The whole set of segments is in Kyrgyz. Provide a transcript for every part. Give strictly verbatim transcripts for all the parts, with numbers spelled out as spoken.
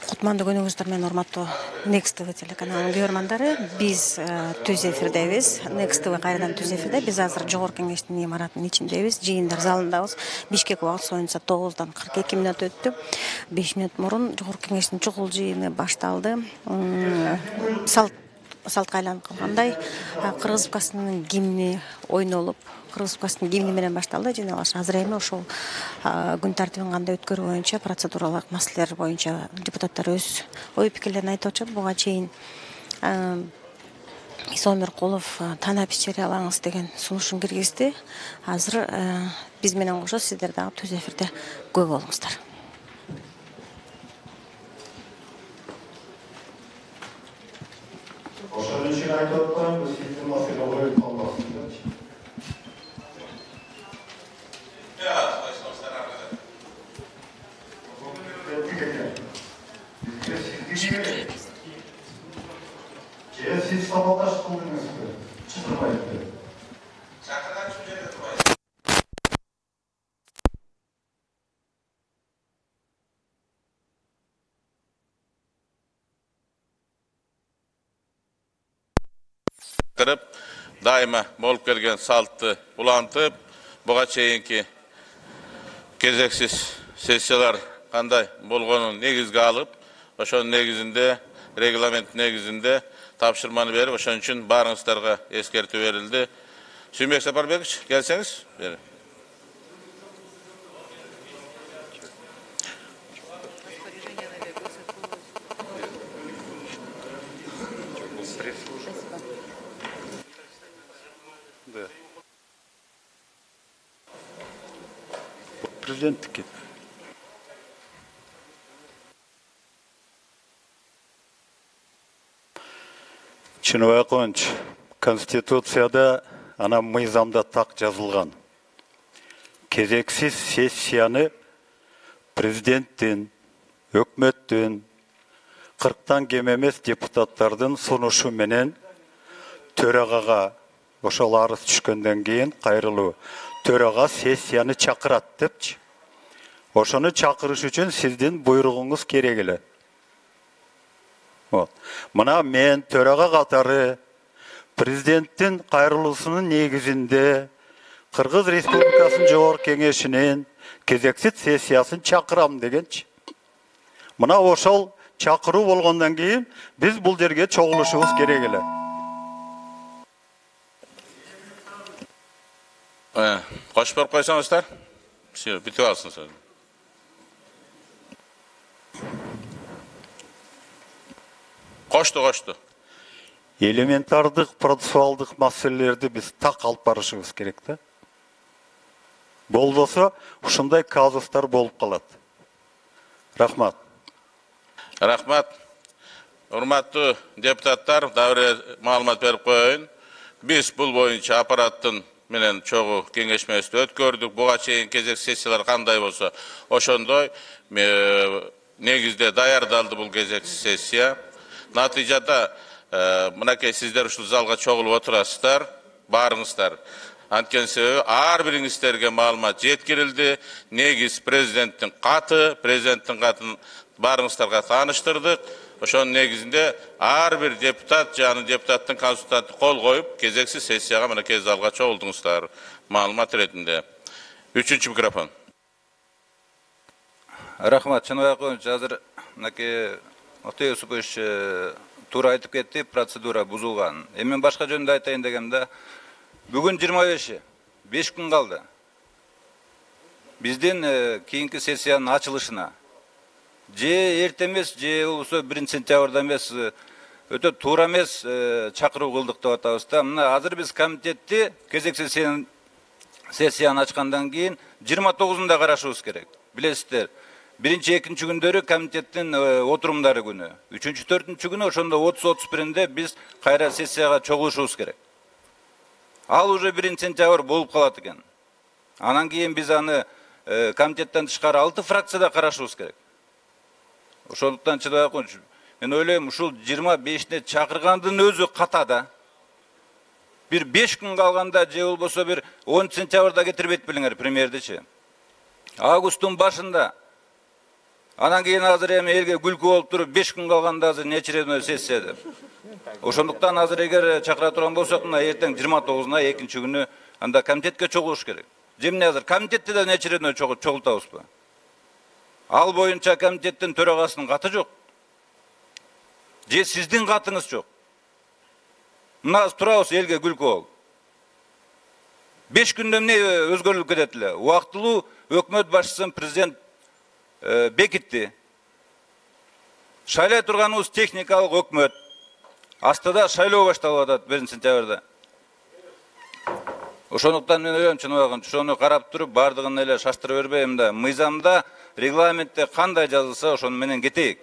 Кутмандуу күнүңүздөр менен урматтуу Next ти ви телеканалынын көрөрмандары. Биз түз эфирдебиз. Next ти ви кайрадан түз эфирде. Биз азыр жогорку кеңештин имаратынын ичиндебиз. Жыйындар залындабыз. Бишкек убакыт боюнча тогуздан кырк эки мүнөт өттү. беш мүнөт мурун жогорку кеңештин чукул жыйыны башталды. Салт салтка айланып калгандай Кыргызстанын гимни ойнолуп, Кыргызстанын гимни менен башталды. Жана азыр эми ошол күн тартибин кандай өткөрүү боюнча, процедуралык маселелер боюнча депутаттар өз ой пикирлерин айтып атышат. Буга чейин Иса Омеркулов танапис жарыялаңыз деген сунушун киргизди. Азыр биз менен кошо сиздер дагы түз эфирде көп болуңуздар. Ошон үчүн айтып атпаймынбы, сиздин маселе коюлуп калбасын депчи. Же сиз сабаташ кылдыңызбы? Чыгырбайбы? Чакырган үчүн жерде турбайбы? Кырып, дайыма болуп келген салтты улантып, буга чейинки кезексиз сессиялар кандай болгонун негизге алып, ошонун негизинде, регламент негизинде тапшырманы берип, ошон үчүн баарыңыздарга эскертүү берилди. Сүймбек Сапарбекович, келсеңиз. Бери. Президенттикке. Чыныбакович, Конституцияда ана мыйзамда так жазылган. Кезексиз сессияны президенттин, өкмөттүн, кырктан кем эмес депутаттардын сунушу менен төрагага ошол арыз түшкөндөн кийин кайрылуу төрага сессияны чакырат депчи. Ошону чакырыш үчүн сиздин буйругуңуз керек эле. Мына мен төрага катары президенттин кайрылуусунун негизинде Кыргыз Республикасынын жогорку кеңешинин кезексиз сессиясын чакырам дегенчи. Мына ошол чакыруу болгондон кийин биз бул жерге чогулушубуз керек эле. Кош берип койсоңуздар. Все, бүтүп алсын сөз. Кошту, кошту. Элементардык процессуалдык маселелерди биз так алып барышыбыз керек да. Болбосо ушундай казустар болуп калат. Рахмат. Рахмат. Урматтуу депутаттар, дагы маалымат берип коеюн. Биз бул боюнча аппараттын менен чогуу кеңешмесин өткөрдүк. Буга чейин кезек сессиялар кандай болсо, ошондой негизде даярдалды бул кезек сессия. Натыйжада мынакей сиздер ушул залга чогулуп отурасыздар, баарыңыздар. Анткени себеби ар бириңиздерге маалымат жеткирилди. Негиз президенттин каты, президенттин катын баарыңыздарга тааныштырдык. Ошонун негизинде ар бир депутат жана депутаттын консультанты кол коюп, кезексиз сессияга мынакей залга чогулдуңуздар. Маалымат иретинде. Үчүнчү микрофон. Рахмат, Чыныбакович, азыр мынакей Октой Юсупович туура айтып кетти, процедура бузулган. Эми башка жөнүндө айтайын дегенде, бүгүн жыйырма беши, беш күн калды. Биздин кийинки сессиянын ачылышына же эрте эмес, же болбосо биринчи сентябрда эмес, өтө туура эмес чакыруу кылдык деп атабыз да. Мына азыр биз комитетти кезексиз сессияны ачкандан кийин жыйырма тогузунда карашыбыз керек. Билесиздер, биринчи, экинчи күндөрү комитеттин отурумдары күнү. Үчүнчү, төртүнчү күнү ошондо отуз отуз биринде биз кайра сессияга чогулушубуз керек. Ал уже биринчи сентябрь болуп калат экен. Анан кийин биз аны комитеттен тышкары алты фракцияда карашыбыз керек. Ошондуктан Чыныбакович, мен ойлойм, ушул жыйырма бешине чакыргандын өзү ката да. бир беш күн калганда же болбосо бир онунчу сентябрда кетирбейт белиңер премьердичи. Августтун башында. Анан кийин азыр эми элге күлкү болуп туруп беш күн калганда азыр неочередной сессия деп. Ошондуктан азыр эгер чакыра турган болсок, мына эртең жыйырма тогузуна экинчи күнү анда комитетке чогулуш керек. Же эмне азыр комитетте да неочередной чогултабызбы? Ал боюнча комитеттин төрагасынын каты жок. Же сиздин катыңыз жок. Мына турабыз элге күлкү болуп. беш күндө эмне өзгөрүлүп кетет эле? Убактылуу өкмөт башчысын президент бекитти. Шайлай турганыбыз техникалык өкмөт. Астыда шайлоо башталып атат биринчи сентябрда. Ошондуктан мен ойлойм, чыныбагын ошону карап туруп бардыгын эле шаштыра бербей, мында мыйзамда, регламентте кандай жазылса, ошону менен кетейик.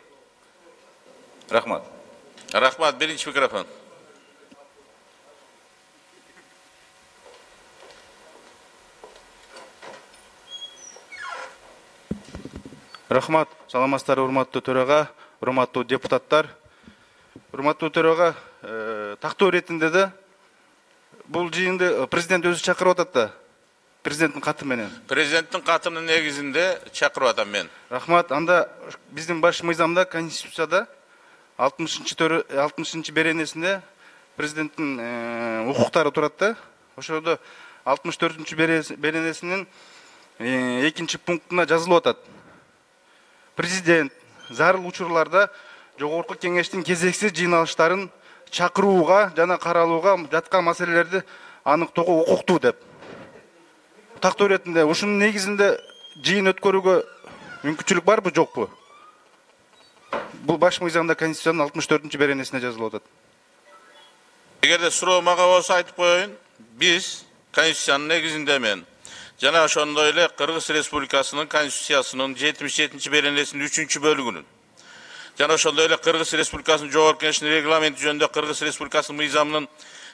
Рахмат. Рахмат, биринчи микрофон. Рахмат, саламатсыздарбы, урматтуу төрага, урматтуу депутаттар. Урматтуу төрага, тактоо иретинде да бул жыйынды президент өзү чакырып атат да. Президенттин каты менен. Президенттин катынын негизинде чакырып атам мен. Рахмат, анда биздин баш мыйзамда, конституцияда алтымышынчы беренесинде президенттин укуктары турат да. Ошодо алтымыш төртүнчү беренесинин экинчи пунктуна жазылып атат. Президент зарыл учурларда жогорку кеңештин кезексиз жыйналыштарын чакырууга жана каралууга жаткан маселелерди аныктоого укуктуу деп. Тактоо иретинде ушунун негизинде жыйын өткөрүүгө мүмкүнчүлүк барбы, жокпу? Бул баш мыйзамда конституциянын алтымыш төртүнчү беренесине жазылып атат. Эгерде суроо мага болсо айтып коеюн, биз конституциянын негизинде мен жана ошондой эле Кыргыз Республикасынын конституциясынын жетимиш жетинчи беренесинин үчүнчү бөлүгүнүн жана ошондой эле Кыргыз Республикасынын жогорку кеңешинин регламенти жөнүндө Кыргыз Республикасынын мыйзамынын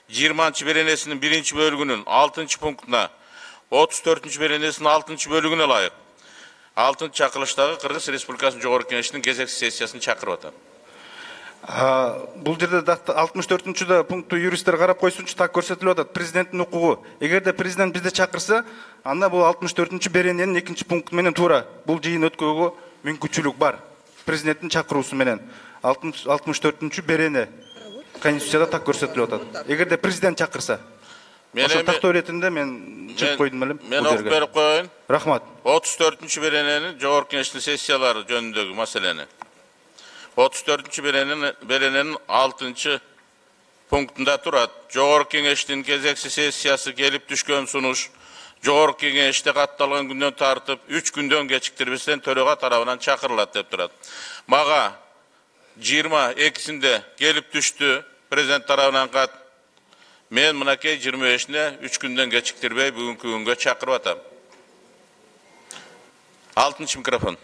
жыйырманчы беренесинин биринчи бөлүгүнүн алтынчы пунктуна отуз төртүнчү беренесинин алтынчы бөлүгүнө ылайык алтынчы чакырылыштагы Кыргыз Республикасынын жогорку кеңешинин кезектүү сессиясын чакырып атам. Бул жерде алтымыш төртүнчү пункту юристтер карап койсунчу, так көрсөтүлүп атат. Президенттин укугу. Эгерде президент бизди чакырса, анда бул алтымыш төртүнчү берененин экинчи пункту менен туура бул жыйын өткөрүүгө мүмкүнчүлүк бар. Президенттин чакыруусу менен алтымыш төртүнчү берене конституцияда так көрсөтүлүп атат. Эгерде президент чакырса. Ошо тактоо иретинде мен чыгып койдум элем. Мен окуп берип коеюн. Рахмат. отуз төртүнчү берененин жогорку кеңештин сессиялары жөнүндөгү маселени. отуз төртүнчү берененин алтынчы пунктунда турат. Жогорку кеңештин кезекси сессиясы келип түшкөн сунуш жогорку кеңеште катталган күндөн тартып үч күндөн кечиктирбестен төрага тарабынан чакырылат деп турат. Мага жыйырма экисинде келип түштү президент тарабынан кат. Мен мынакей жыйырма бешине үч күндөн кечиктирбей бүгүнкү күнгө чакырып атам. алтынчы микрофон.